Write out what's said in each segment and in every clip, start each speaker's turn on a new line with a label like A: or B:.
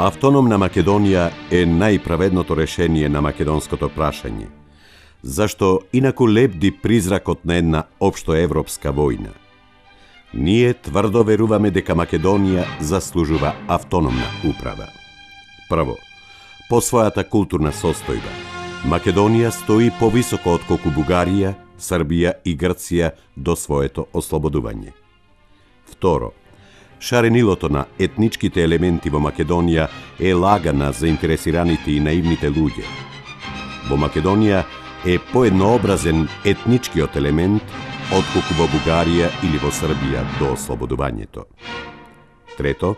A: Автономна Македонија е најправедното решение на македонското прашање, зашто инаку лепди призракот на една општоевропска војна. Ние тврдо веруваме дека Македонија заслужува автономна управа. Прво, по својата културна состојба, Македонија стои повисоко отколку Бугарија, Србија и Грција до своето ослободување. Второ, шаренилото на етничките елементи во Македонија е лага на заинтересираните и наивните луѓе. Во Македонија е поеднообразен етничкиот елемент отколку во Бугарија или во Србија до ослободувањето. Трето,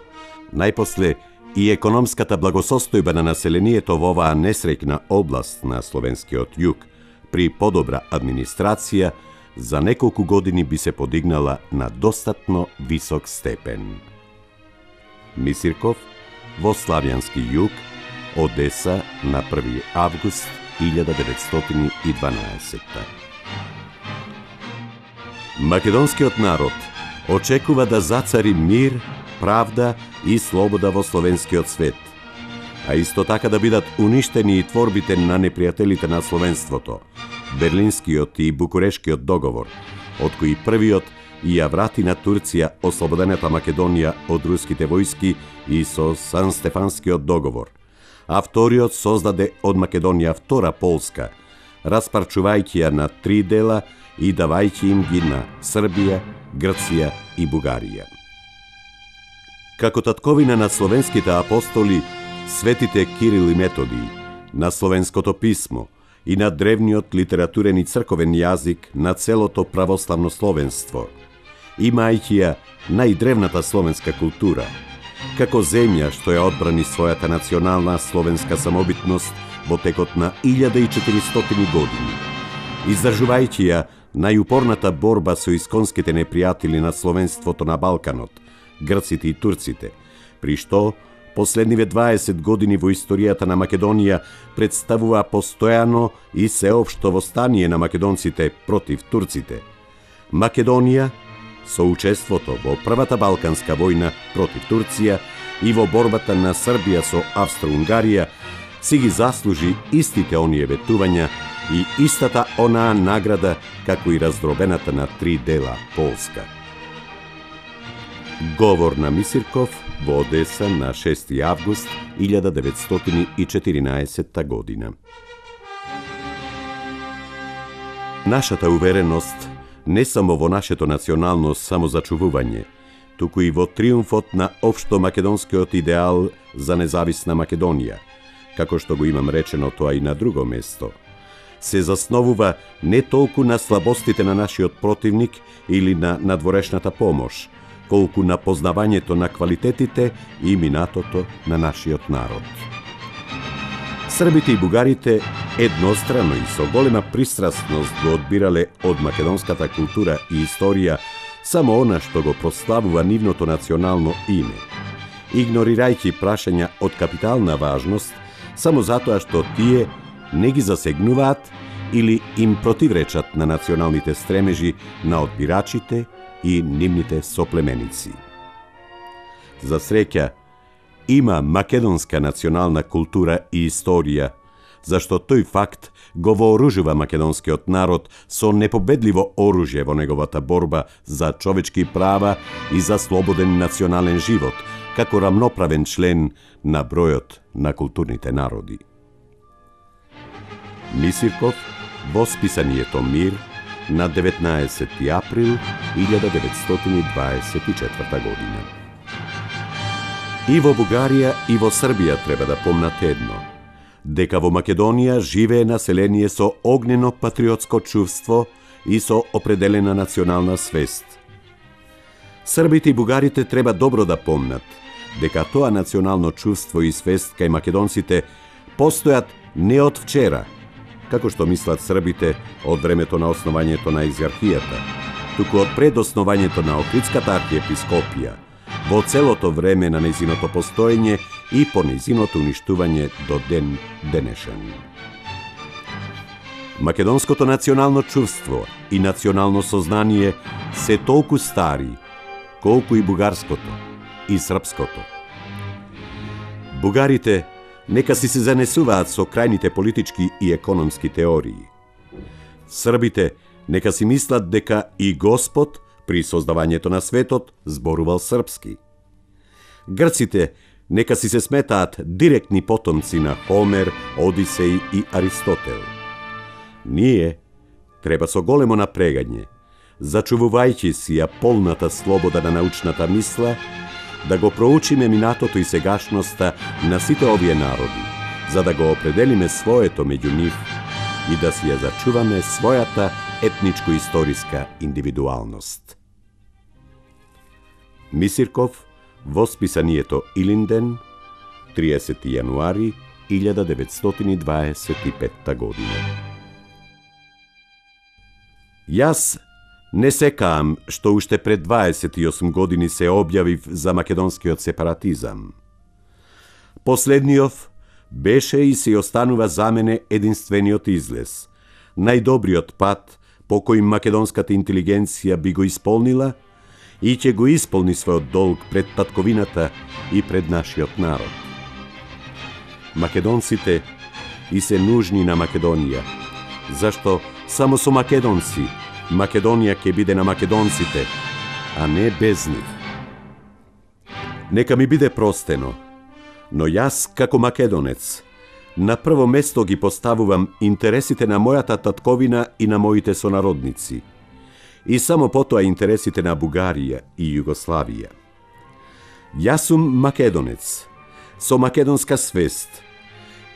A: најпосле и економската благосостојба на населението во оваа несреќна област на словенскиот југ при подобра администрација за неколку години би се подигнала на достатно висок степен. Мисирков во Славјански југ, Одеса на 1 август 1912. Македонскиот народ очекува да зацари мир, правда и слобода во словенскиот свет, а исто така да бидат уништени и творбите на непријателите на словенството, Берлинскиот и Букурешкиот договор, од кои првиот ја врати на Турција ослободената Македонија од руските војски и со Сан-Стефанскиот договор, а вториот создаде од Македонија втора Полска, распарчувајќи ја на 3 дела и давајќи им ги на Србија, Грција и Бугарија. Како татковина на словенските апостоли, светите Кирил и Методий, на словенското писмо и на древниот литературен и црковен јазик на целото православно словенство, имајќи ја најдревната словенска култура, како земја што ја одбрани својата национална словенска самобитност во текот на 1400 години, издржувајќи ја најупорната борба со исконските непријатели на словенството на Балканот, грците и турците, при што последниве 20 години во историјата на Македонија представува постојано и сеопшто востание на македонците против турците. Македонија, со учеството во Првата Балканска војна против Турција и во борбата на Србија со Австро-Унгарија, си ги заслужи истите оние ветувања и истата онаа награда како и раздробената на 3 дела Полска. Говор на Мисирков во Одеса на 6 август 1914 година. Нашата увереност не само во нашето национално самозачувување, туку и во триумфот на општо македонскиот идеал за независна Македонија, како што го имам речено тоа и на друго место, се засновува не толку на слабостите на нашиот противник или на надворешната помош, колку на познавањето на квалитетите и минатото на нашиот народ. Србите и бугарите еднострано и со голема пристрасност го одбирале од македонската култура и историја само она што го прославува нивното национално име, игнорирајќи прашања од капитална важност само затоа што тие не ги засегнуваат или им противречат на националните стремежи на одбирачите и нивните соплеменици. За среќа, има македонска национална култура и историја, зашто тој факт го вооружува македонскиот народ со непобедливо оружје во неговата борба за човечки права и за слободен национален живот, како рамноправен член на бројот на културните народи. Мисирков во списанието Мир на 19 април 1924 година. И во Бугарија и во Србија треба да помнат едно, дека во Македонија живее население со огнено патриотско чувство и со определена национална свест. Србите и бугарите треба добро да помнат дека тоа национално чувство и свест кај македонците постојат не од вчера, како што мислат србите од времето на основањето на екзархијата, туку од пред основањето на Охридската архиепископија, во целото време на нејзиното постоење и по нејзиното уништување до ден денешен. Македонското национално чувство и национално сознание се толку стари, колку и бугарското и српското. Бугарите нека си се занесуваат со крајните политички и економски теории. Србите нека си мислат дека и Господ при создавањето на светот зборувал српски. Грците нека си се сметаат директни потомци на Хомер, Одисеј и Аристотел. Ние треба со големо напрегање, зачувувајќи си ја полната слобода на научната мисла, да го проучиме минатото и сегашноста на сите овие народи, за да го определиме своето меѓу нив и да си ја зачуваме својата етничко-историска индивидуалност. Мисирков во списанието Илинден, 30 јануари 1925 година. Јас не секаам што уште пред 28 години се објавив за македонскиот сепаратизам. Последниот беше и се останува за мене единствениот излез, најдобриот пат по кој македонската интелигенција би го исполнила и ќе го исполни својот долг пред татковината и пред нашиот народ. Македонците и се нужни на Македонија, зашто само со македонци Македонија ќе биде на македонците, а не без нив. Нека ми биде простено, но јас како македонец на прво место ги поставувам интересите на мојата татковина и на моите сонародници, и само потоа интересите на Бугарија и Југославија. Јас сум македонец, со македонска свест,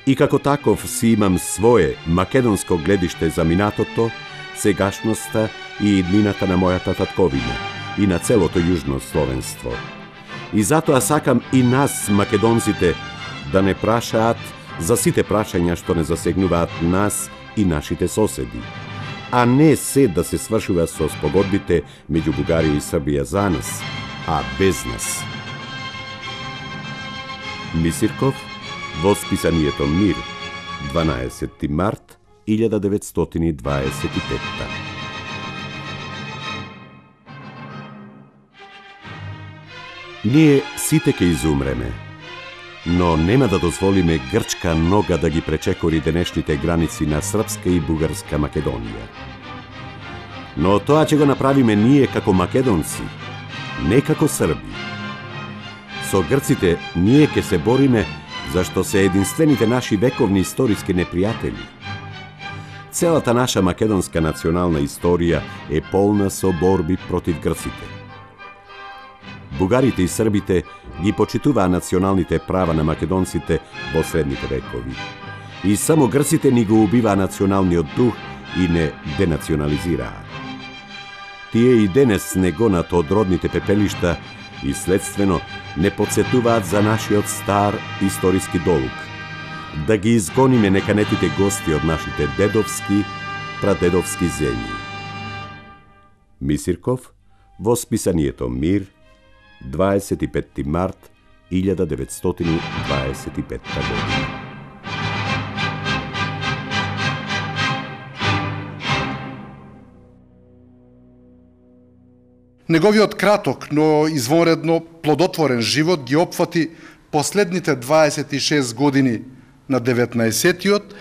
A: и како таков си имам свое македонско гледиште за минатото, сегашноста и иднината на мојата татковина и на целото јужно словенство. И затоа сакам и нас, македонците, да не прашаат за сите прашања што не засегнуваат нас и нашите соседи, а не се да се свршува со спогодбите меѓу Бугарија и Србија за нас, а без нас. Мисирков во списанието Мир, 12 март 1925. Ние сите ќе изумреме, но нема да дозволиме грчка нога да ги пречекори денешните граници на српска и бугарска Македонија. Но тоа ќе го направиме ние како македонци, не како срби. Со грците ние ќе се бориме зашто се единствените наши вековни историски непријатели. Целата наша македонска национална историја е полна со борби против грците. Бугарите и србите ги почитуваа националните права на македонците во средните векови. И само грците ни го убиваа националниот дух и не денационализираа. Тие и денес не гонат од родните пепелишта и следствено не подсетуваат за нашиот стар историски долг, да ги изгониме неканетите гости од нашите дедовски, прадедовски земји. Мисирков во списанието Мир, 25 март 1925 година.
B: Неговиот краток, но извонредно плодотворен живот ги опфати последните 26 години на 19-тиот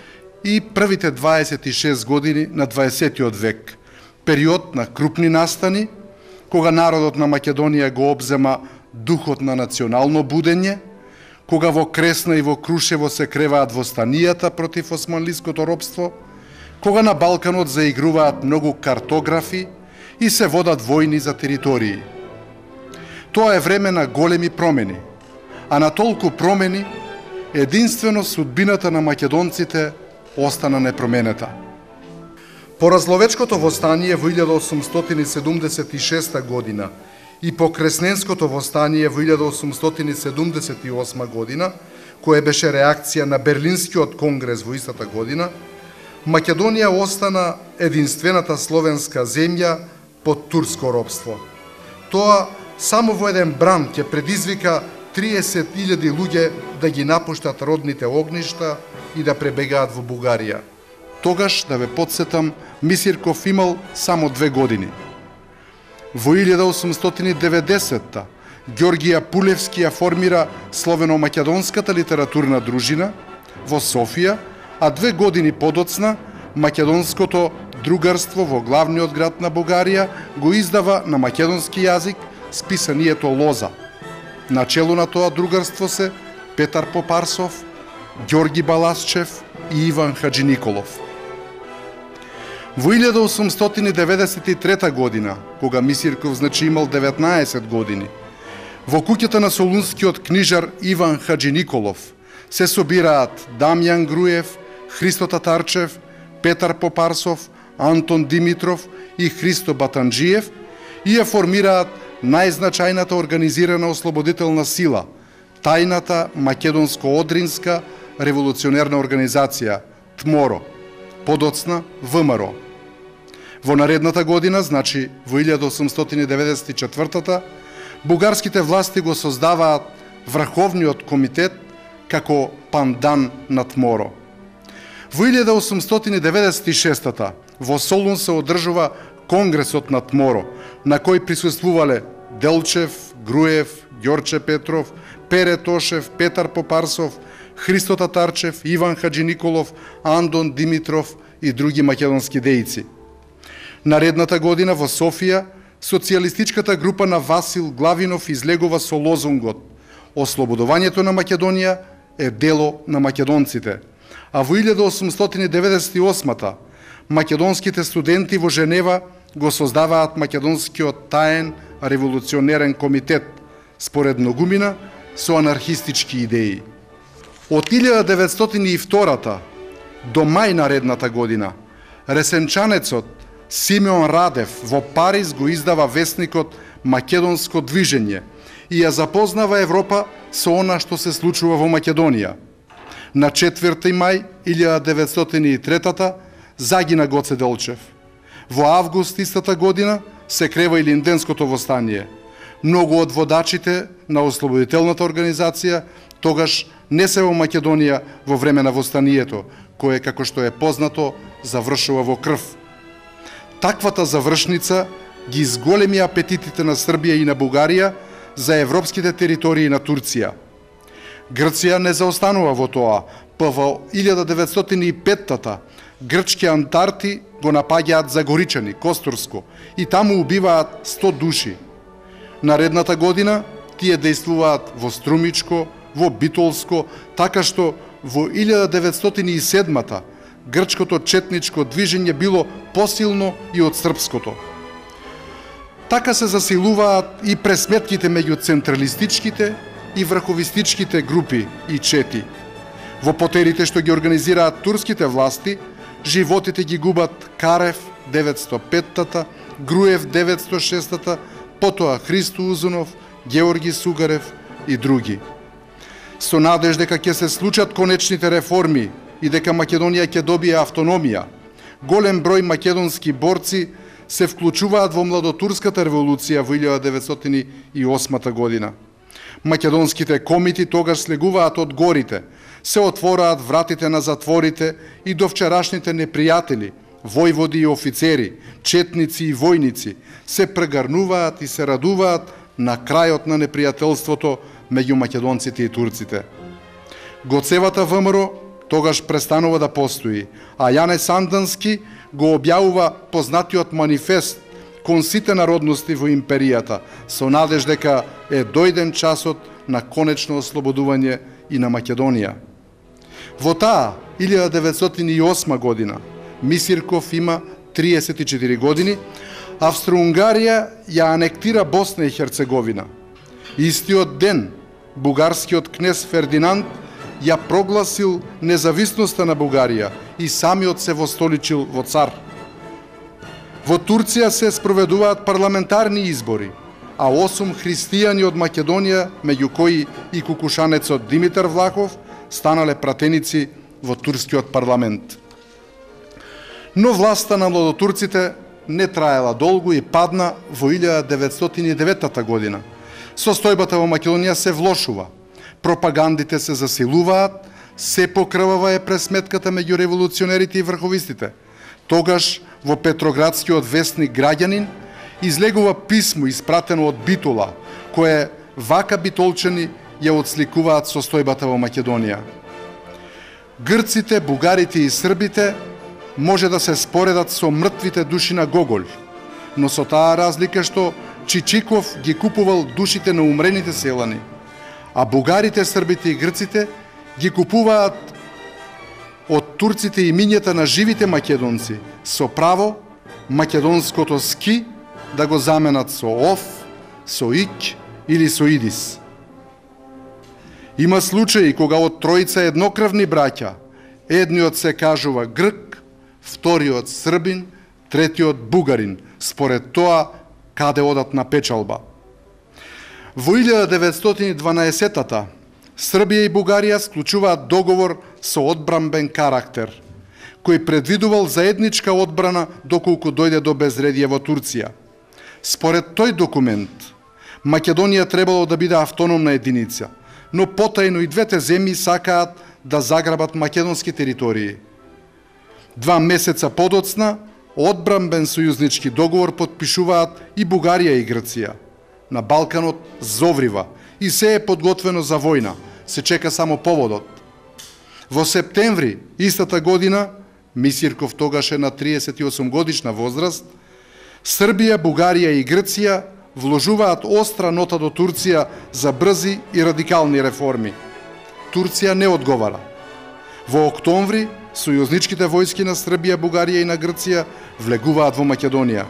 B: и првите 26 години на 20-тиот век, период на крупни настани, кога народот на Македонија го обзема духот на национално будење, кога во Кресна и во Крушево се креваат востанијата против османлиското робство, кога на Балканот заигруваат многу картографи и се водат војни за територии. Тоа е време на големи промени, а на толку промени единствено судбината на македонците остана непроменета. По Разловечкото востание во 1876 година и по Кресненското востание во 1878 година, кое беше реакција на Берлинскиот конгрес во истата година, Македонија остана единствената словенска земја под турско робство. Тоа само во еден бран ќе предизвика 30.000 луѓе да ги напуштат родните огништа и да пребегаат во Бугарија. Тогаш, да ве подсетам, Мисирков имал само 2 години. Во 1890-та Ѓоргија Пулевски ја формира Словено-македонската литературна дружина во Софија, а 2 години подоцна Македонското другарство во главниот град на Бугарија го издава на македонски јазик списанието Лоза. Начелу на тоа другарство се Петар Попарсов, Ѓорги Баласчев и Иван Хаджиниколов. Во 1893 година, кога Мисирков имал 19 години, во куќата на солунскиот книжар Иван Хаджиниколов се собираат Дамјан Груев, Христо Татарчев, Петар Попарсов, Антон Димитров и Христо Батанджиев и ја формираат најзначајната организирана ослободителна сила, тајната македонско-одринска револуционерна организација ТМОРО, подоцна ВМРО. Во наредната година, значи во 1894-та, бугарските власти го создаваат Врховниот комитет како пандан на ТМОРО. Во 1896-та во Солун се одржува Конгресот на ТМОРО, на кој присуствувале Делчев, Груев, Ѓорче Петров, Пере Тошев, Петар Попарсов, Христо Татарчев, Иван Хаджиниколов, Андон Димитров и други македонски дејци. Наредната година во Софија, социјалистичката група на Васил Главинов излегува со лозунгот «Ослободувањето на Македонија е дело на македонците», а во 1898-та македонските студенти во Женева го создаваат Македонскиот таен револуционерен комитет, според многумина со анархистички идеи. Од 1902 до мај наредната година, ресенчанецот Симеон Радев во Париз го издава весникот Македонско движење и ја запознава Европа со она што се случува во Македонија. На 4 мај 1903 загина Гоце Делчев. Во август истата година се крива и Линденското востание. Многу од водачите на ослободителната организација тогаш не се во Македонија во време на востанието, кое, како што е познато, завршува во крв. Таквата завршница ги изголеми апетитите на Србија и на Бугарија за европските територии на Турција. Грција не заостанува во тоа, па во 1905-та грчки антарти го напаѓаат Загоричани, Костурско, и таму убиваат 100 души. Наредната година тие действуваат во Струмичко, во Битолско, така што во 1907-та грчкото четничко движење било посилно и од српското. Така се засилуваат и пресметките меѓу централистичките и врховистичките групи и чети. Во потерите што ги организираат турските власти, животите ги губат Карев 905-та, Груев 906-та, потоа Христо Узунов, Георги Сугарев и други. Со надеж дека ќе се случат конечните реформи и дека Македонија ќе добие автономија, голем број македонски борци се вклучуваат во младотурската револуција во 1908 година. Македонските комити тогаш слегуваат од горите, се отвораат вратите на затворите и до вчерашните непријатели, војводи и офицери, четници и војници, се прегарнуваат и се радуваат на крајот на непријателството меѓу македонците и турците. Гоцевата ВМРО тогаш престанува да постои, а Јане Сандански го објавува познатиот манифест кон сите народности во империјата, со надеж дека е дојден часот на конечно ослободување и на Македонија. Во таа 1908 година Мисирков има 34 години, Австро-Унгарија ја анектира Босна и Херцеговина. Истиот ден бугарскиот кнез Фердинанд ја прогласил независноста на Бугарија и самиот се востоличил во цар. Во Турција се спроведуваат парламентарни избори, а 8 христијани од Македонија, меѓу кои и кукушанецот Димитар Влахов, станале пратеници во турскиот парламент. Но власта на младотурците не траела долго и падна во 1909 година. Состојбата во Македонија се влошува. Пропагандите се засилуваат, се покрвава е пресметката меѓу револуционерите и врховистите. Тогаш во Петроградскиот вестник Граѓанин излегува писмо испратено од Битола, кое вака битолчени ја отсликуваат состојбата во Македонија. Грците, бугарите и србите може да се споредат со мртвите души на Гоголь, но со таа разлика што Чичиков ги купувал душите на умрените селани, а бугарите, србите и грците ги купуваат од турците имињата на живите македонци, со право македонското ски да го заменат со ов, со ик или со идис. Има случаи кога од тројца еднокрвни браќа, едниот се кажува грк, вториот србин, третиот бугарин, според тоа каде одат на печалба. Во 1912-та Србија и Бугарија склучуваат договор со одбранбен карактер, кој предвидувал заедничка одбрана доколку дојде до безредие во Турција. Според тој документ, Македонија требало да биде автономна единица, но потајно и двете земји сакаат да заграбат македонски територии. 2 месеца подоцна, одбранбен сојузнички договор потпишуваат и Бугарија и Грција. На Балканот зоврива и се е подготвено за војна, се чека само поводот. Во септември истата година, Мисирков тогаш е на 38 годишна возраст, Србија, Бугарија и Грција вложуваат остра нота до Турција за брзи и радикални реформи. Турција не одговара. Во октомври, сојузничките војски на Србија, Бугарија и на Грција влегуваат во Македонија.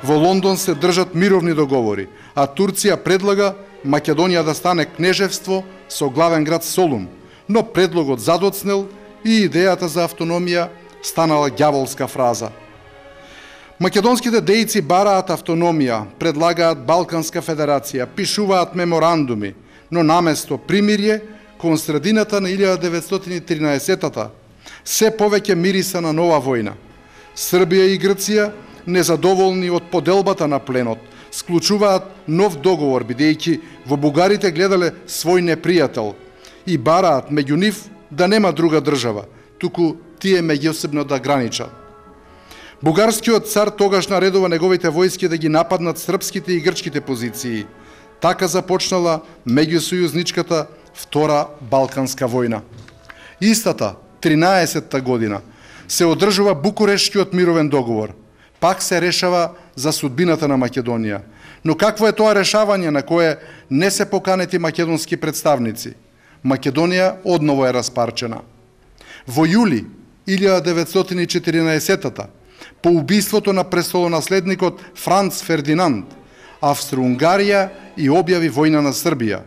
B: Во Лондон се држат мировни договори, а Турција предлага Македонија да стане кнежевство со главен град Солун, но предлогот задоцнел и идејата за автономија станала ѓаволска фраза. Македонските дејци бараат автономија, предлагаат Балканска федерација, пишуваат меморандуми, но наместо примирје, кон средината на 1913-та, се повеќе мириса на нова војна. Србија и Грција, незадоволни од поделбата на пленот, склучуваат нов договор, бидејќи во бугарите гледале свој непријател и бараат меѓу нив да нема друга држава, туку тие меѓусебно да граничат. Бугарскиот цар тогаш наредува неговите војски да ги нападнат српските и грчките позиции. Така започнала меѓусојузничката Втора Балканска војна. Истата, 13-та година, се одржува Букурештскиот мировен договор. Пак се решава за судбината на Македонија. Но какво е тоа решавање на кое не се поканети македонски представници? Македонија одново е распарчена. Во јули 1914-та, по убиството на престолонаследникот Франц Фердинанд, Австро-Унгарија и објави војна на Србија.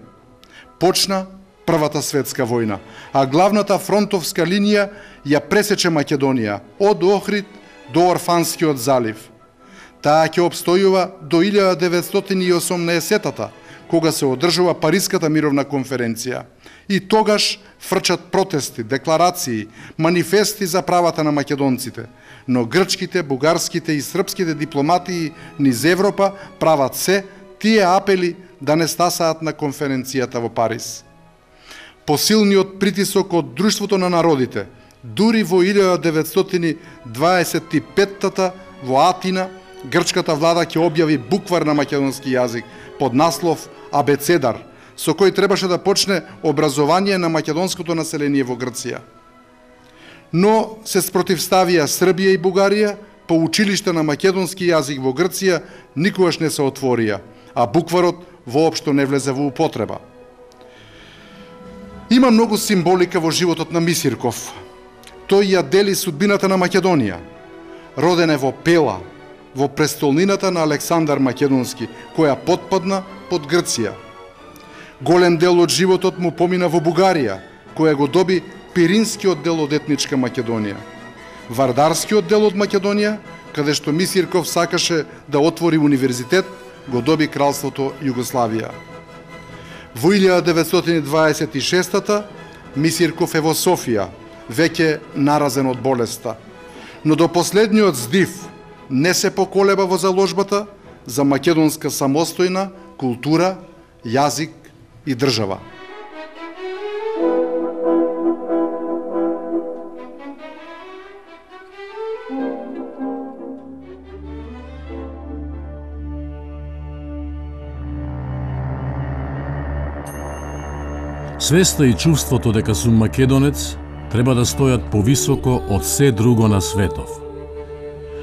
B: Почна Првата светска војна, а главната фронтовска линија ја пресече Македонија од Охрид до Орфанскиот залив. Таа ќе обстојува до 1918-та, кога се одржува Париската мировна конференција. И тогаш фрчат протести, декларации, манифести за правата на македонците, но грчките, бугарските и српските дипломатии низ Европа прават се тие апели да не стасаат на конференцијата во Париз. Посилниот притисок од Друштвото на народите, дури во 1925-та во Атина, грчката влада ќе објави буквар на македонски јазик под наслов Абецедар, со кој требаше да почне образование на македонското население во Грција. Но се спротивставија Србија и Бугарија, по училиште на македонски јазик во Грција никогаш не се отворија, а букварот воопшто не влезе во употреба. Има многу символика во животот на Мисирков. Тој ја дели судбината на Македонија. Роден е во Пела, во престолнината на Александар Македонски, која потпадна под Грција. Голем дел од животот му помина во Бугарија, која го доби Пиринскиот дел од етничка Македонија. Вардарскиот дел од Македонија, каде што Мисирков сакаше да отвори универзитет, го доби кралството Југославија. Во 1926-та Мисирков е во Софија, веќе наразен од болеста. Но до последниот здив не се поколеба во заложбата за македонска самостојна култура, јазик и држава.
C: Свеста и чувството дека сум македонец треба да стојат повисоко од се друго на светов.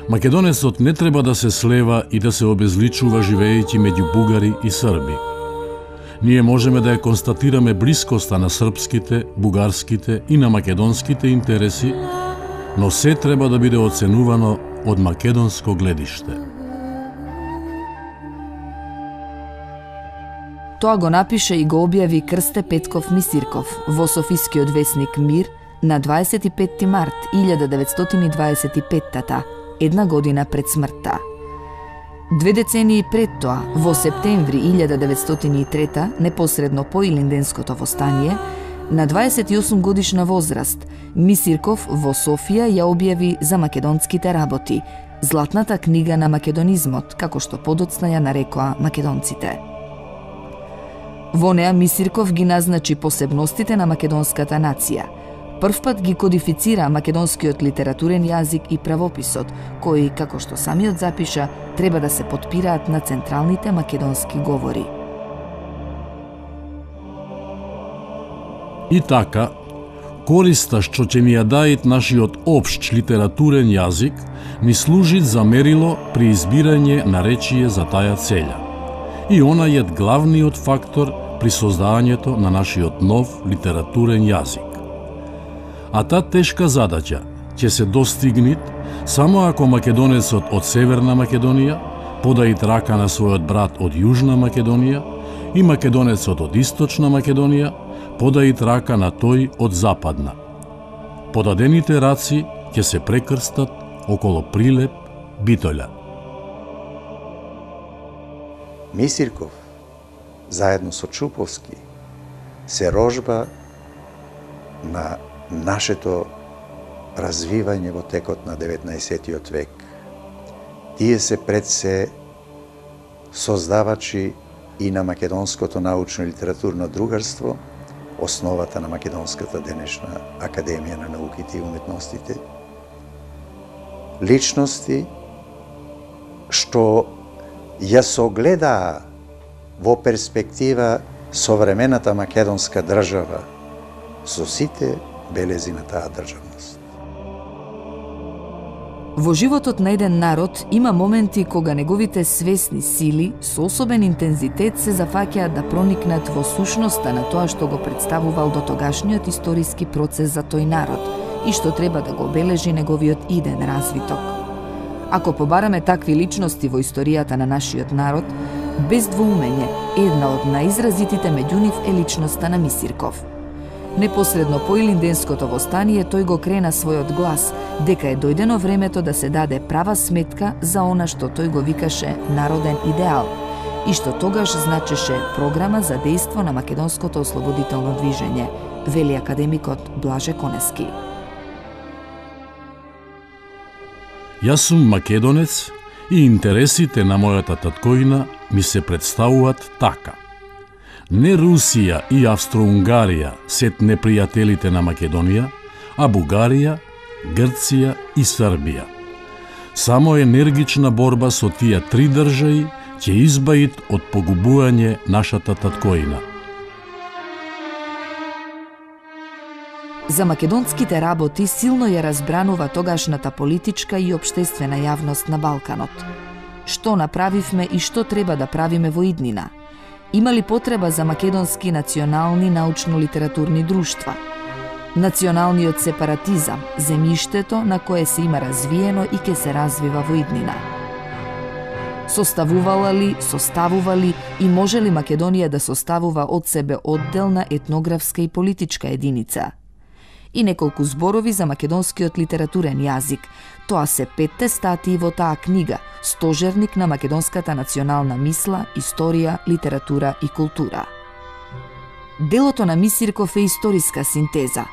C: Македонецот не треба да се слева и да се обезличува живеејќи меѓу бугари и срби. Ние можеме да ја констатираме блискоста на српските, бугарските и на македонските интереси, но се треба да биде оценувано од македонско гледиште.
D: Тоа го напише и го објави Крсте Петков Мисирков во Софискиот весник Мир на 25 март 1925-та, една година пред смртта. 2 децении пред тоа, во септември 1903, непосредно по Илинденското востание, на 28 годишна возраст, Мисирков во Софија ја објави за македонските работи, златната книга на македонизмот, како што подоцна ја нарекоа македонците. Во неа Мисирков ги назначи посебностите на македонската нација. Првпат ги кодифицира македонскиот литературен јазик и правописот, кои, како што самиот запиша, треба да се потпираат на централните македонски говори.
C: И така, користа што ќе ни ја дајат нашиот општ литературен јазик, ни служи за мерило при избирање на речие за таја целја. И она е главниот фактор при создагањето на нашиот нов литературен јазик. А таа тешка задача ќе се достигне само ако македонецот од Северна Македонија подаит рака на својот брат од Јужна Македонија и македонецот од Источна Македонија подаит рака на тој од Западна. Подадените раци ќе се прекрстат около Прилеп, Битоља.
E: Мисирков, заедно со Чуповски, се рожба на нашето развивање во текот на 19. век. Тие се пред се создавачи и на македонското научно и литературно другарство, основата на македонската денешна Академија на науките и уметностите. Личности што ја согледаа во перспектива современата македонска држава со сите белези на таа државност.
D: Во животот на еден народ има моменти кога неговите свесни сили со особен интензитет се зафаќаат да проникнат во сушноста на тоа што го представувал дотогашниот историски процес за тој народ и што треба да го обележи неговиот иден развиток. Ако побараме такви личности во историјата на нашиот народ, без двоумење, една од најизразитите меѓу нив е личноста на Мисирков. Непосредно по Илинденското востание тој го крена својот глас дека е дојдено времето да се даде права сметка за она што тој го викаше народен идеал и што тогаш значеше програма за дејство на македонското ослободително движење, вели академикот Блаже Конески.
C: Јас сум македонец и интересите на мојата таткоина ми се представуваат така. Не Русија и Австро-Унгарија сет непријателите на Македонија, а Бугарија, Грција и Србија. Само енергична борба со тие три држави ќе избавит од погубување нашата таткоина.
D: За македонските работи силно ја разбранува тогашната политичка и општествена јавност на Балканот. Што направивме и што треба да правиме во иднина? Има ли потреба за македонски национални научно-литературни друштва? Националниот сепаратизам, земјиштето на кое се има развиено и ќе се развива во иднина. Составувала ли и може ли Македонија да составува од себе одделна етнографска и политичка единица? И неколку зборови за македонскиот литературен јазик. Тоа се 5 статии во таа книга, стожерник на македонската национална мисла, историја, литература и култура. Делото на Мисирков е историска синтеза.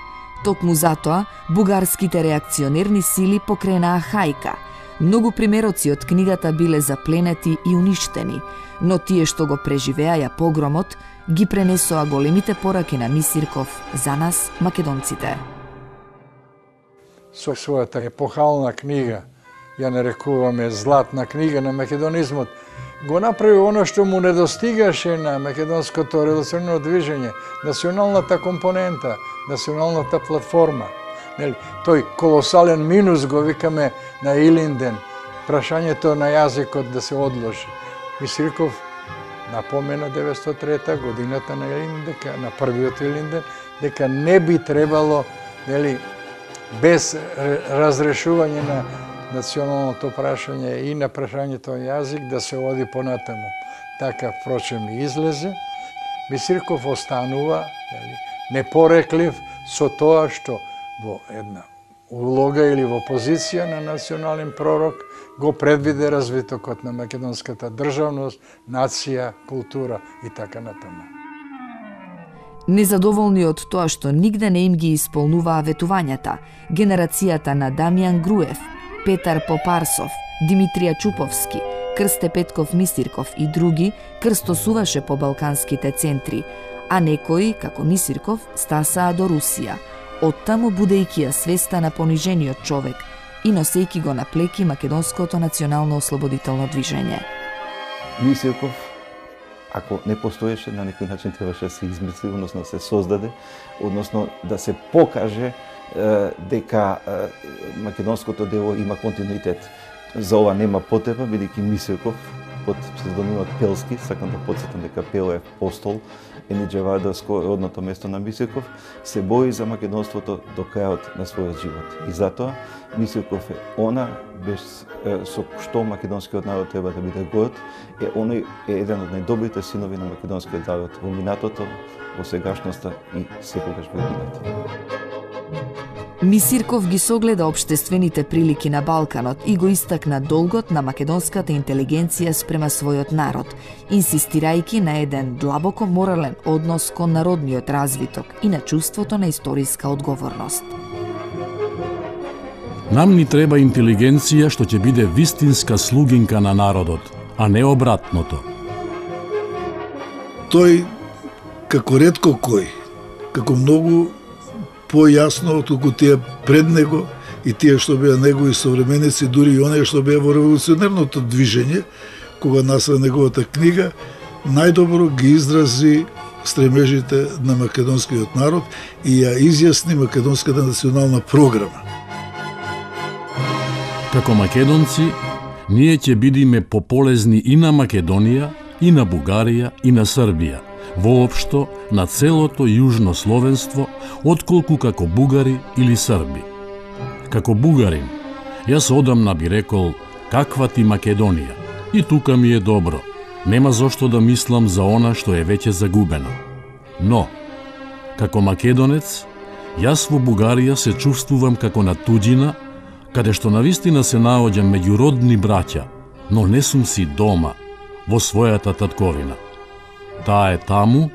D: Токму затоа, бугарските реакционерни сили покренаа хајка. Многу примероци од книгата биле запленети и уништени, но тие што го преживеаја погромот, ги пренесоа големите пораки на Мисирков за нас, македонците.
F: Со својата епохална книга, ја нарекуваме златна книга на македонизмот, го направи оно што му недостигаше на македонското револуционерно движење, националната компонента, националната платформа. Нели, тој колосален минус го викаме на Илинден, прашањето на јазикот да се одложи. Мисирков напомена 903 годината на Илинден, на првиот Илинден, дека не би требало, нели, без разрешување на националното прашање и на прашањето на јазик да се оди понатаму. Така, впрочем, и излезе. Мисирков останува, нели, непореклив со тоа што во една улога или во позиција на национален пророк го предвиде развитокот на македонската државност, нација, култура и така натаму.
D: Незадоволни од тоа што нигде не им ги исполнуваа ветувањата, генерацијата на Дамјан Груев, Петар Попарсов, Димитрија Чуповски, Крсте Петков Мисирков и други крстосуваше по балканските центри, а некои, како Мисирков, стасаа до Русија, оттаму будејќи ја свеста на понижениот човек и носејќи го на плеки македонското национално ослободително движење.
G: Мисирков, ако не постоеше, на некој начин требаше да се измисли, односно да се создаде, односно да се покаже дека македонското дело има континуитет. За ова нема потреба, бидејќи Мисирков под псевдонимот Пелски, сакам да потсетам дека Пел е постол, Енидже Вардарско е родното место на Мисирков, се бори за македонството до крајот на својот живот. И затоа Мисирков е она без со што македонскиот народ треба да биде горд, оној е еден од најдобрите синови на македонскиот народ во минатото, во сегашноста и секогаш во иднината.
D: Мисирков ги согледа општествените прилики на Балканот и го истакна долгот на македонската интелигенција спрема својот народ, инсистирајќи на еден длабоко морален однос кон народниот развиток и на чувството на историска одговорност.
C: Нам ни треба интелигенција што ќе биде вистинска слугинка на народот, а не обратното.
H: Тој, како ретко кој, како многу појасно отколку тие пред него и тие што беа негови современици, дури и оние што беа во револуционерното движење, кога насва неговата книга, најдобро ги изрази стремежите на македонскиот народ и ја изјасни македонската национална програма.
C: Како македонци, ние ќе бидиме пополезни и на Македонија, и на Бугарија, и на Србија, воопшто на целото јужно словенство, отколку како бугари или срби. Како бугарин, јас одамна би рекол, каква ти Македонија, и тука ми е добро, нема зошто да мислам за она што е веќе загубено. Но, како македонец, јас во Бугарија се чувствувам како на туѓина, каде што навистина се наоѓам меѓу родни браќа, но не сум си дома, во својата татковина. Таа е таму,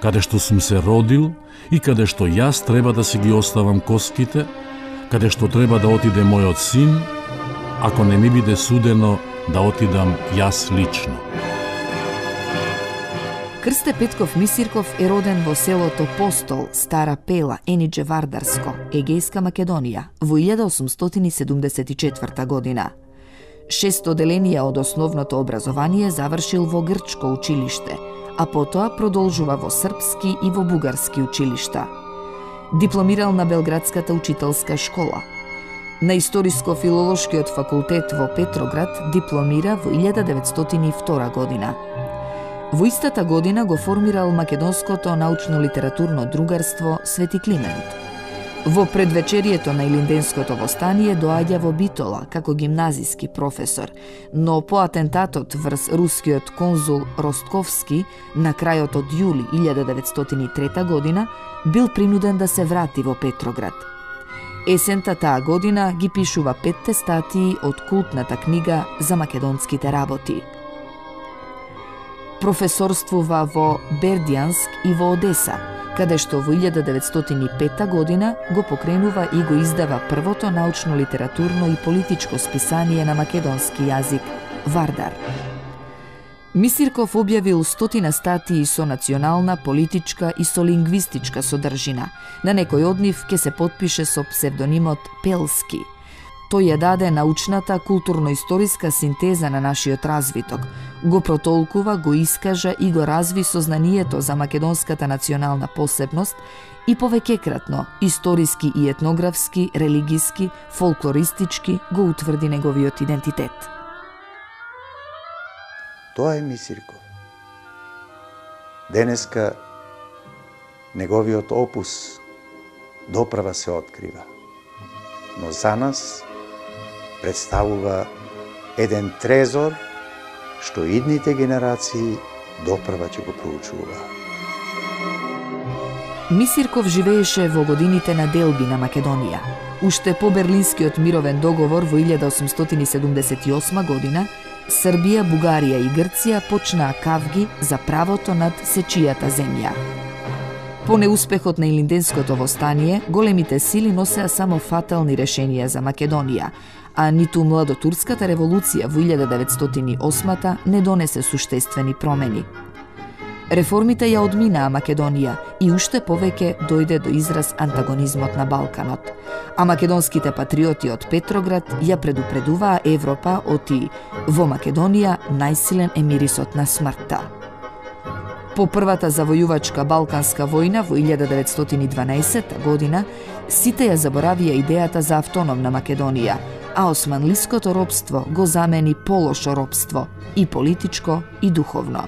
C: каде што сум се родил и каде што јас треба да си ги оставам коските, каде што треба да отиде мојот син, ако не ми биде судено да отидам јас лично.
D: Крсте Петков Мисирков е роден во селото Постол, Стара Пела, Енидже Вардарско, Егејска Македонија, во 1874 година. 6 оделенија од основното образование завршил во грчко училиште, а потоа продолжува во српски и во бугарски училишта. Дипломирал на Белградската учителска школа. На Историско-филолошкиот факултет во Петроград дипломира во 1902 година. Во истата година го формирал Македонското научно-литературно другарство Свети Климент. Во предвечерието на Илинденското востание доаѓа во Битола како гимназиски професор, но по атентатот врз рускиот конзул Ростковски на крајот од јули 1903 година бил принуден да се врати во Петроград. Есента таа година ги пишува 5 статии од култната книга за македонските работи. Професорствува во Бердјанск и во Одеса, каде што во 1905 година го покренува и го издава првото научно-литературно и политичко списание на македонски јазик Вардар. Мисирков објавил 100 статии со национална, политичка и со лингвистичка содржина. На некој од нив ќе се потпише со псевдонимот Пелски. Тој ја даде научната, културно-историска синтеза на нашиот развиток, го протолкува, го искажа и го разви сознанието за македонската национална посебност и повеќекратно, историски и етнографски, религиски, фолклористички го утврди неговиот идентитет.
E: Тоа е Мисирков. Денеска неговиот опус доправа се открива, но за нас представува еден трезор што идните генерации доправа ќе го проучува.
D: Мисирков живееше во годините на делби на Македонија. Уште по Берлинскиот мировен договор во 1878 година, Србија, Бугарија и Грција почнаа кавги за правото над сечијата земја. По неуспехот на Илинденското востание, големите сили носеа само фатални решенија за Македонија, а ниту младотурската револуција во 1908 не донесе суштествени промени. Реформите ја одминаа Македонија и уште повеќе дојде до израз антагонизмот на Балканот, а македонските патриоти од Петроград ја предупредуваа Европа оти во Македонија најсилен е мирисот на смртта. По првата завојувачка Балканска војна во 1912 година, сите ја заборавија идејата за автономна Македонија, а османлиското робство го замени полошо робство, и политичко и духовно.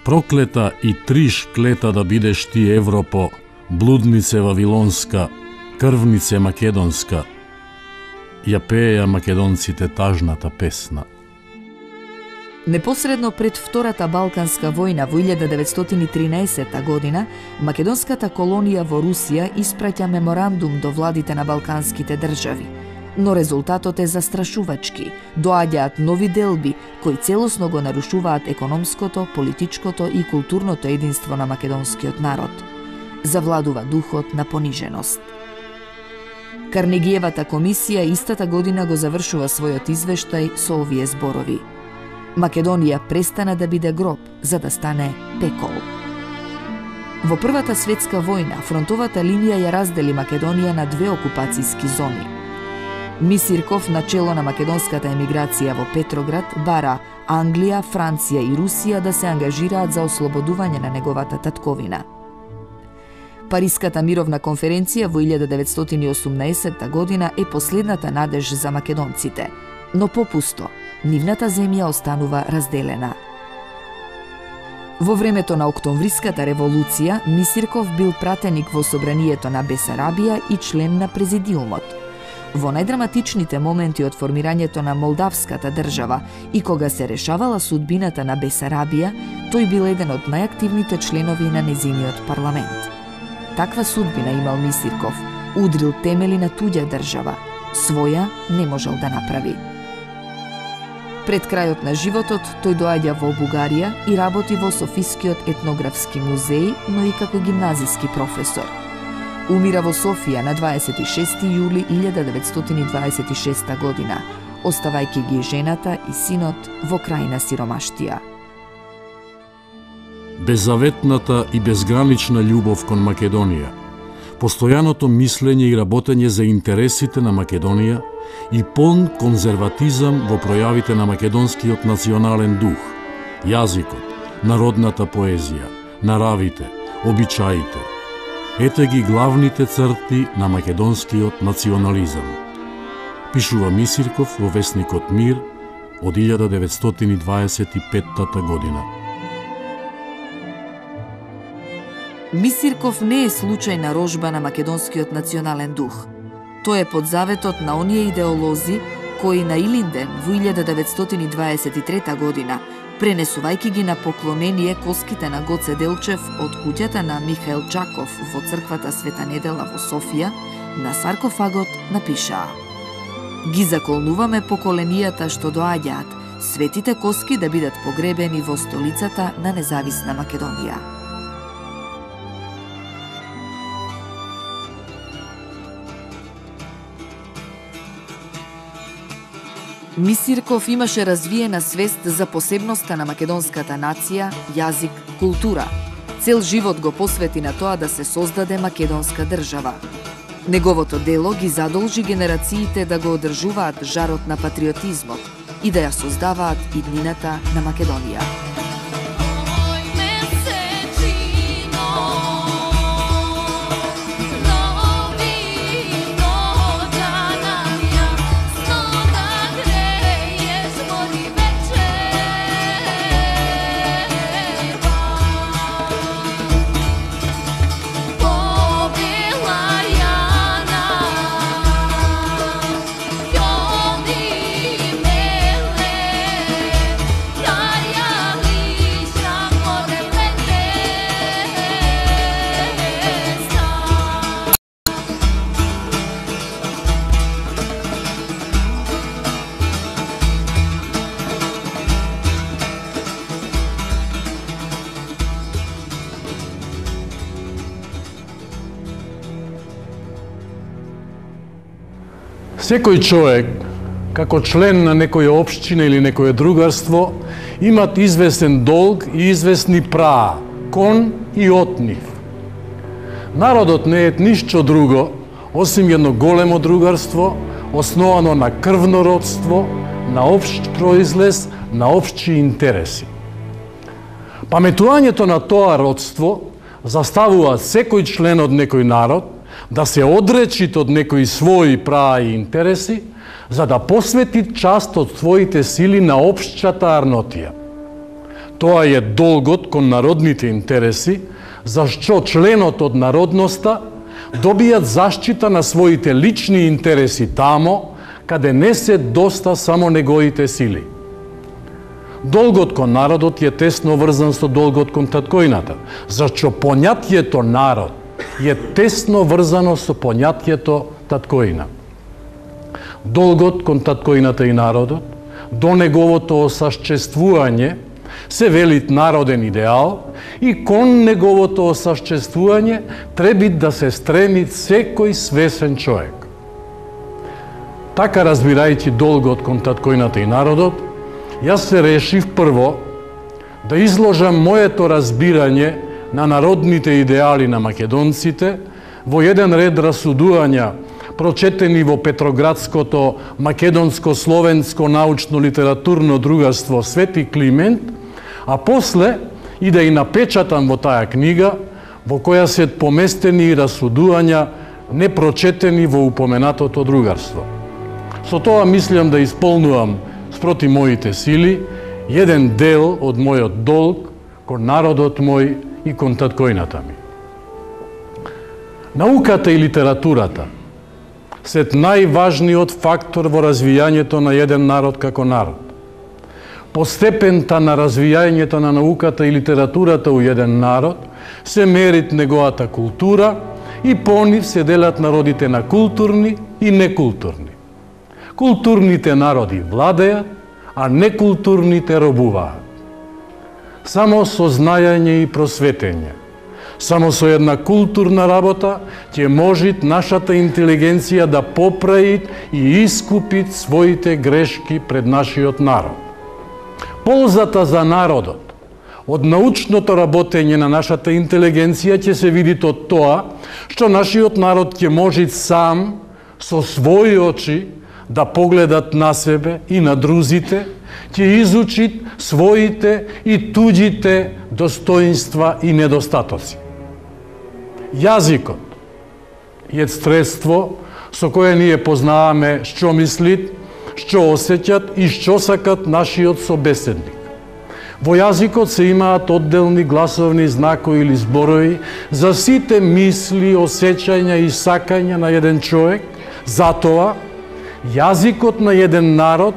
C: Проклета и триш клета да бидеш ти Европо, блуднице вавилонска, крвнице македонска, ја пееја македонците тажната песна.
D: Непосредно пред Втората Балканска војна во 1913 година, македонската колонија во Русија испраќа меморандум до владите на балканските држави. Но резултатот е застрашувачки. Доаѓаат нови делби кои целосно го нарушуваат економското, политичкото и културното единство на македонскиот народ. Завладува духот на пониженост. Карнегиевата комисија истата година го завршува својот извештај со овие зборови: Македонија престана да биде гроб, за да стане пекол. Во Првата светска војна фронтовата линија ја раздели Македонија на две окупацијски зони. Мисирков, начело на македонската емиграција во Петроград, бара Англија, Франција и Русија да се ангажираат за ослободување на неговата татковина. Париската мировна конференција во 1918 година е последната надеж за македонците, но попусто, нивната земја останува разделена. Во времето на Октомвриската револуција, Мисирков бил пратеник во собранието на Бесарабија и член на президиумот. Во најдраматичните моменти од формирањето на Молдавската држава и кога се решавала судбината на Бесарабија, тој бил еден од најактивните членови на незиниот парламент. Таква судбина имал Мисирков, удрил темели на туѓа држава, своја не можел да направи. Пред крајот на животот, тој доаѓа во Бугарија и работи во Софискиот етнографски музеј, но и како гимназиски професор. Умира во Софија на 26. јули 1926 година, оставајќи ги жената и синот во крајна сиромаштија.
C: Беззаветната и безгранична љубов кон Македонија, постојаното мислење и работење за интересите на Македонија и полн конзерватизам во пројавите на македонскиот национален дух, јазикот, народната поезија, наравите, обичаите. Ете ги главните црти на македонскиот национализам. Пишува Мисирков во весникот Мир од 1925 година.
D: Мисирков не е случајна рожба на македонскиот национален дух. Тој е под заветот на оние идеолози кои на Илинден во 1923 година, пренесувајќи ги на поклонение коските на Гоце Делчев од куќата на Михаил Чаков во црквата Света Недела во Софија, на саркофагот напишаа: Ги заколнуваме поколенијата што доаѓаат, светите коски да бидат погребени во столицата на независна Македонија. Мисирков имаше развиена свест за посебноста на македонската нација, јазик, култура. Цел живот го посвети на тоа да се создаде македонска држава. Неговото дело ги задолжи генерациите да го одржуваат жарот на патриотизмот и да ја создаваат иднината на Македонија.
C: Секој човек, како член на некоја општина или некое другарство, имат известен долг и известни права, кон и од нив. Народот не е ништо друго, осим едно големо другарство, основано на крвно родство, на општ произлез, на општи интереси. Паметувањето на тоа родство заставува секој член од некој народ да се одречит од некои своји права и интереси, за да посвети част од своите сили на општата арнотија. Тоа е долгот кон народните интереси, зашто членот од народноста добијат заштита на своите лични интереси тамо, каде не се доста само неговите сили. Долгот кон народот е тесно врзан со долгот кон таткоината, зашто поњатието народ е тесно врзано со поњатието таткоина. Долгот кон таткоината и народот, до неговото осашчествување, се велит народен идеал и кон неговото осашчествување треби да се стреми секој свесен човек. Така разбирајќи долгот кон таткоината и народот, јас се решив прво да изложам моето разбирање на народните идеали на македонците во еден ред расудувања прочетени во Петроградското македонско-словенско научно-литературно другарство Свети Климент, а после и да и напечатам во таа книга, во која се поместени и расудувања непрочетени во упоменатото другарство. Со тоа мислам да исполнувам спроти моите сили еден дел од мојот долг кон народот мој и кон таткоината ми. Науката и литературата се најважниот фактор во развијањето на еден народ како народ. По степента на развијањето на науката и литературата у еден народ се мерит неговата култура и по нив се делат народите на културни и некултурни. Културните народи владеат, а некултурните робуваат. Само со знаење и просветење, само со една културна работа ќе можит нашата интелигенција да поправи и искупит своите грешки пред нашиот народ. Ползата за народот од научното работење на нашата интелигенција ќе се види од тоа што нашиот народ ќе може сам со своји очи да погледат на себе и на друзите, ќе изучит своите и туѓите достоинства и недостатоци. Јазикот е средство со кое ние познаваме што мислит, што осеќат и што сакат нашиот собеседник. Во јазикот се имаат одделни гласовни знакови или зборови за сите мисли, осеќања и сакања на еден човек. Затоа, јазикот на еден народ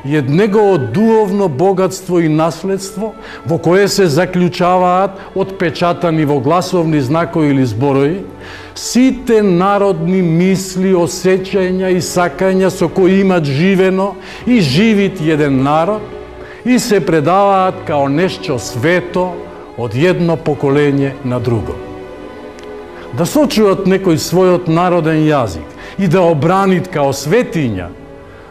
C: е негово дуhovно богатство и наследство во кое се заклучаваат отпечатани во гласовни знакови или зборови сите народни мисли, осеќања и сакања со кои имат живено и живит еден народ и се предаваат као нешто свето од едно поколење на друго. Да сочуват некој својот народен јазик и да обранит као светиња,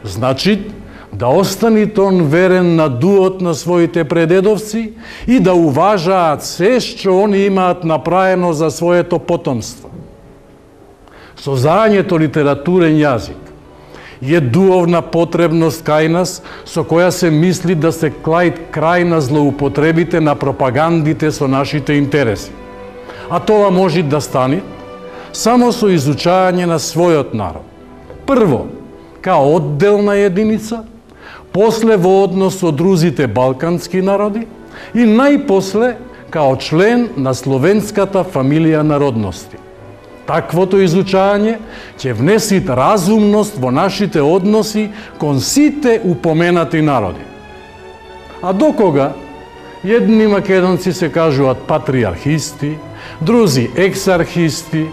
C: значи да останит он верен на дуот на своите предедовци и да уважаат се што они имаат направено за своето потомство. создањето литературен јазик е дуовна потребност кај нас, со која се мисли да се крај на злоупотребите на пропагандите со нашите интереси. А тоа може да стане само со изучање на својот народ. Прво, као одделна единица, после во однос со другите балкански народи и најпосле као член на словенската фамилија народности. Таквото изучање ќе внеси разумност во нашите односи кон сите упоменати народи. А докога едни македонци се кажуваат патриархисти, друзи ексархисти,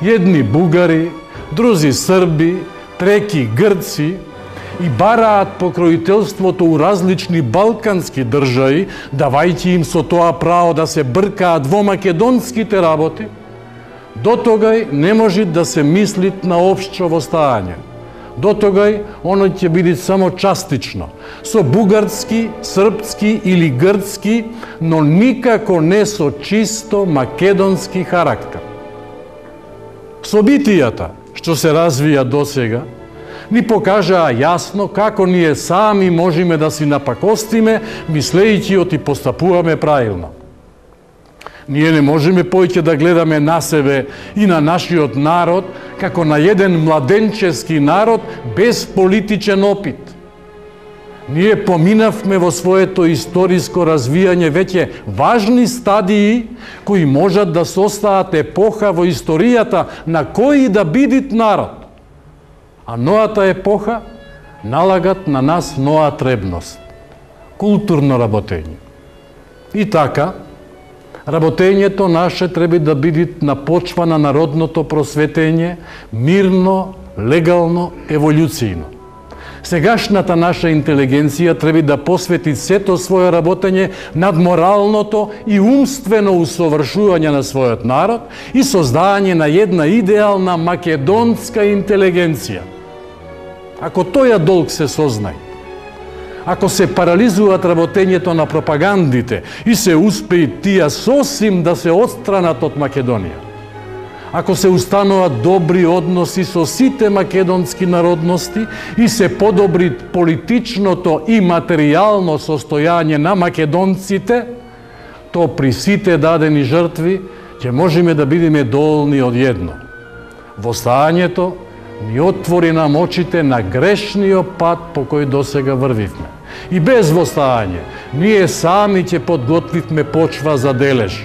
C: едни бугари, друзи срби, треки грци и бараат покроителството у различни балкански држави, давајќи им со тоа право да се бркаат во македонските работи, дотогај не може да се мисли на општо востање. Дотогај оно ќе биде само частично, со бугарски, српски или грцки, но никако не со чисто македонски характер. Собитијата што се развија досега ни покажаа јасно како ние сами можеме да си напакостиме, мислејќи оти постапуваме правилно. Ние не можеме поќе да гледаме на себе и на нашиот народ како на еден младенчески народ без политичен опит. Ние поминавме во своето историско развијање веќе важни стадии кои можат да состаат епоха во историјата на кој да бидит народ. А новата епоха налагат на нас нова требност – културно работење. И така, работењето наше треба да биде на почва на народното просветење, мирно, легално, еволюцијно. Сегашната наша интелигенција треба да посвети сето своје работење над моралното и умствено усовршување на својот народ и создање на една идеална македонска интелигенција. Ако тоја долг се сознае, ако се парализуваат работењето на пропагандите и се успеи тие сосим да се отстранат од Македонија, ако се устануваат добри односи со сите македонски народности и се подобри политичното и материјално состојање на македонците, то при сите дадени жртви ќе можеме да бидеме долни од едно. Востањето ни отвори нам очите на грешниот пат по кој досега врвивме. И без востање, ние сами ќе подготвивме почва за дележ.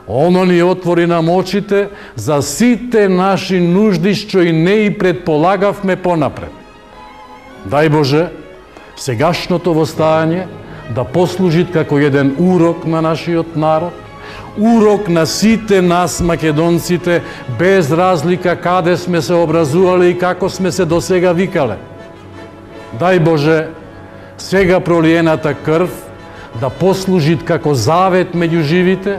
C: Оно ни отвори нам очите за сите наши нужди што и не и предполагавме понапред. Дај Боже, сегашното востање да послужи како еден урок на нашиот народ, урок на сите нас македонците, без разлика каде сме се образувале и како сме се досега викале. Дај Боже, сега пролиената крв да послужи како завет меѓу живите,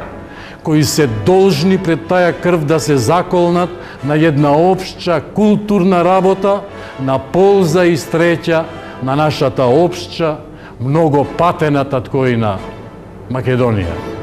C: кои се должни пред таа крв да се заколнат на една општа културна работа на полза и среќа на нашата општа, много патената ткоина Македонија.